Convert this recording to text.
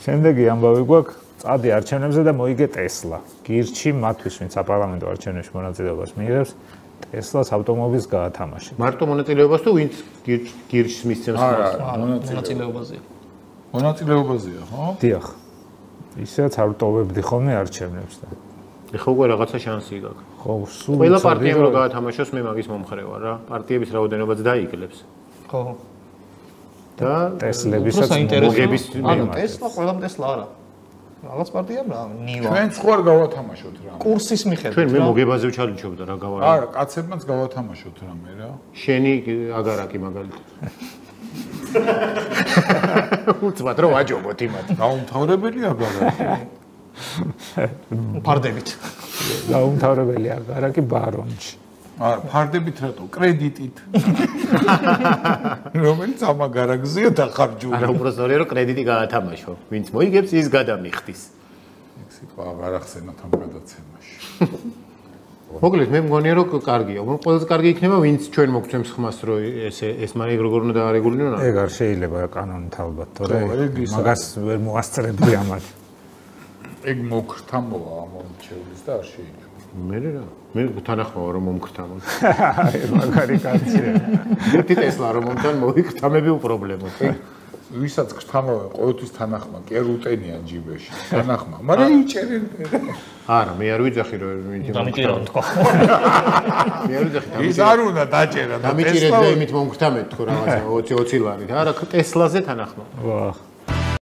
შემდეგი ამბავი გვაქვს წადი არჩევნებზე და მოიგე ტესლა. გირჩი მათთვის, ვინც საპარლამენტო არჩევნებში მონაწილეობას მიიღებს, ტესლას ავტომობილს გაათამაშეთ. მარტო მონაწილეობას თუ ვინც გირჩს მისცემს მონაწილეობაზეა. მონაწილეობაზეა, ხო? დიახ. ისედაც არ ვტოვებდი ხოლმე არჩევნებს და. ეხლა უკვე რაღაცა შანსი გაქვს. ხო, სულ ყველა პარტიამ რო გაათამაშოს, მე მაგის მომხრე ვარ რა. პარტიების რაოდენობაც დაიკლებს. ხო. და ტესლებისაც მოგების ანუ ტესლა ყველამ ტესლა არა. რაღაც პარტიამ რა, ნივა. ჩვენ სხვა გავათამაშოთ რა. კურსის მიხედვით. ჩვენ მე მოგებაზე ვჩალიჩობდა რა გავარ. არა, კაცებმაც გავათამაშოთ რამე რა. შენი აგარაკი მაგალითად. უცბად რომ ვაჯობოთ იმათ. დაუმთავრებელი აგარაკი. ფარდებით. დაუმთავრებელი აგარაკი ბარონში. არა, ფარდებით რატო? კრედიტით. რომელიც ამ აგარაკზეა დახარჯული. არა, უბრალოდ რომ კრედიტი გაათამაშო. ვინც მოიგებს, ის გადამიხდის. ეგ სიტყვა აღარ ახსენოთ ამ გადაცემაში. მოკლედ მე მგონია რომ კარგია. ყველაზე კარგი იქნება ვინც ჩვენ მოგცემს ხმას რომ ეს მაგ როგორ უნდა დაარეგულინო რა. ეგ არ შეიძლება კანონით ალბათ, თორე მაგას ვერ მოასწრებდი ამათ. ეგ მოგრთამოა ამ მომჩევლის და არ შეიძლება. მე რა. მე თანახმავა რომ მომქრთამოთ. მაგარი კაცია. ერთი ტესლა რომ მომთან მოიქრთამები უპრობლემოდ. ვისაც გრთამოა ყოველთვის თანახმა, კი არ უტენიან ჯიბეში. თანახმა, მაგრამ იჭერენ. არა, მე არ ვიძახი რომ დამიჭირა თქო. მე არ ვიძახი ის არ უნდა დაჭერა და დამიჭირეთ და იმით მომქრთამეთ თქო რაღაცა 20 ლარით. არა, ტესლაზე თანახმა. ვახ.